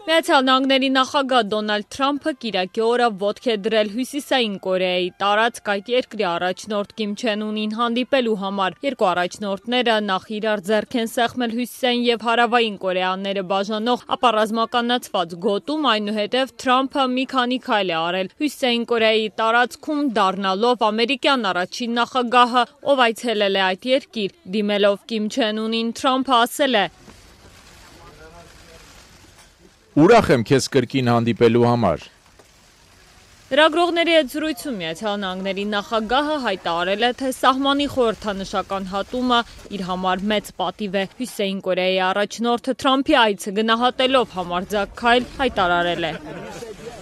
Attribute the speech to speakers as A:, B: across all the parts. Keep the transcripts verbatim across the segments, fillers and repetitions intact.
A: Միացյալ Նահանգների նախագահ Դոնալդ Թրամփը կիրակի օրը ոտք է դրել Հյուսիսային Կորեայի տարածք այդ երկրի առաջնորդ Կիմ Չեն Ունին հանդիպելու համար։ Երկու առաջնորդները նախ իրար ձեռք են սեղմել Հյուսիսային և Հարավային Կորեաները բաժանող ապառազմականացված գոտում, այնուհետև Թրամփը մի քանի քայլ է արել Հյուսիսային Կորեայի տարածքում, դառնալով ամերիկյան առաջին նախագահը, ով այցելել է այդ երկիր։ Դիմելով Կիմ Չեն Ունին, Թրամփը ասել է.
B: Ուրախ եմ քեզ կրկին հանդիպելու համար։
A: Լրագրողների հետ զրույցում Միացյալ Նահանգների նախագահը հայտարարել է, թե սահմանի խորհրդանշական հատումը իր համար մեծ պատիվ է։ Հյուսիսային Կորեայի առաջնորդը Թրամփի այցը գնահատելով համարձակ քայլ հայտարարել է.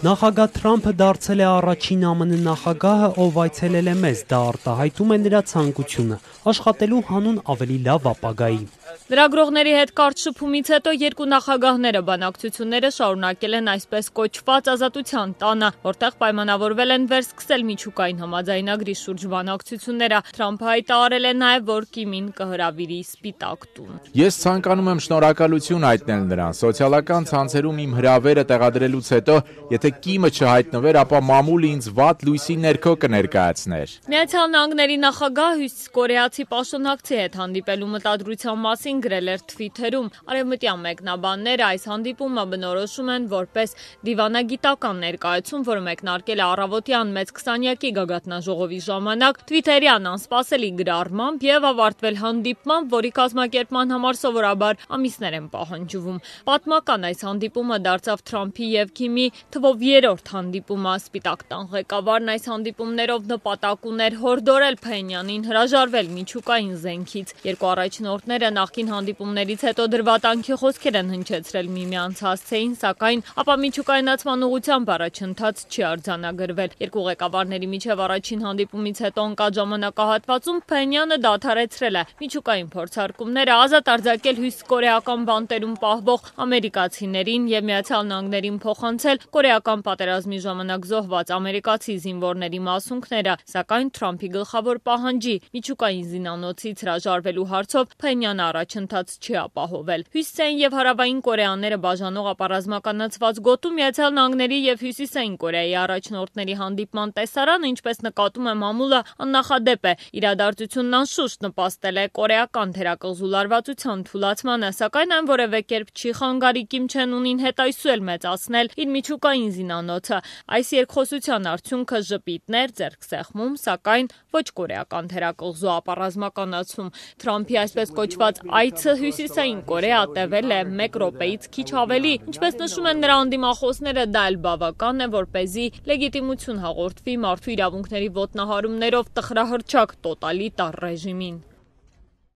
C: Նախագահ Թրամփը դարձել է առաջին ԱՄՆ նախագահը, ով այցելել է մեզ, դա արտահայտում է նրա ցանկությունը աշխատելու հանուն ավելի լավ ապագայի։
A: Լրագրողների հետ կարճ շփումից հետո երկու նախագահները բանակցությունները շարունակել են այսպես կոչված ազատության տանը, որտեղ պայմանավորվել են վերսկսել միջուկային համաձայնագրի շուրջ բանակցությունները։ Թրամփը հայտարարել է նաև, որ Կիմին կհրավիրի Սպիտակ տուն։
B: Ես ցանկանում եմ շնորհակալություն հայտնել նրան։ Սոցիալական ցանցերում իմ հրավերը տեղադրելուց հետո, եթե Կիմը չհայտնվեր, ապա մամուլը ինձ վատ լույսի ներքո կներկայացներ։
A: Միացյալ Նահանգների նախագահ հյուսիսկորեացի պաշտոնակցի հետ հանդիպելու մտադրության մասին գրել էր Թվիթերում։ Արևմտյան մեկնաբանները այս հանդիպումը բնորոշում են որպես դիվանագիտական ներկայացում, որը մեկնարկել է առավոտյան մեծ քսանյակի գագաթնաժողովի ժամանակ Թվիթերյան անսպասելի գրառմամբ եւ ավարտվել հանդիպմամբ, որի կազմակերպման համար սովորաբար ամիսներ են պահանջվում։ Պատմական այս հանդիպումը դարձավ Թրամփի եւ Քիմի թվով երրորդ հանդիպումը։ Սպիտակ տան ղեկավարն այս հանդիպումներով նպատակ ուներ հորդորել Փենյանին հրաժարվել միջուկային զենքից։ Երկու առաջնորդները նախկին հանդիպումներից հետո դրվատանքի խոսքեր են հնչեցրել միմյանց հասցեին, սակայն ապա միջուկայնացման ուղղությամբ առաջընթաց չի արձանագրվել։ Երկու ղեկավարների միջև առաջին հանդիպումից հետո ընկած ժամանակահատվածում Փենյանը դադարեցրել է միջուկային փորձարկումները, ազատ արձակել հյուսիսկորեական բանտերում պահվող ամերիկացիներին եւ Միացյալ Նահանգներին փոխանցել կորեական պատերազմի ժամանակ զոհված ամերիկացի զինվորների մասունքները, սակայն Թրամփի գլխավոր պահանջի միջուկային զինանոցից հրաժարվելու հարցով Փենյանը առաջընթաց չի ապահովել։ Հյուսիսային եւ Հարավային Կորեաները բաժանող ապառազմականացված գոտում Միացյալ Նահանգների եւ Հյուսիսային Կորեայի առաջնորդների հանդիպման տեսարանը, ինչպես նկատում է մամուլը, աննախադեպ է։ Իրադարձությունն անշուշտ նպաստել է կորեական թերակղզու լարվածության թուլացմանը, սակայն այն որևէ կերպ չի խանգարի Կիմ Չեն Ունին հետայսուել մեծացնել իր միջուկային զինանոցը։ Այս երկխոսության արդյունքը ժպիտներ, ձեռքսեղմում, սակայն ոչ կորեական թերակղզու ապառազմականացում։ Թրամփի այսպես կոչված այցը Հյուսիսային Կորեա տևել է մեկ րոպեից քիչ ավելի։ Ինչպես նշում են նրա անդիմախոսները, դա էլ բավական է, որպեսզի լեգիտիմություն հաղորդվի մարդու իրավունքների ոտնահարումներով տխրահռչակ տոտալիտար ռեժիմին։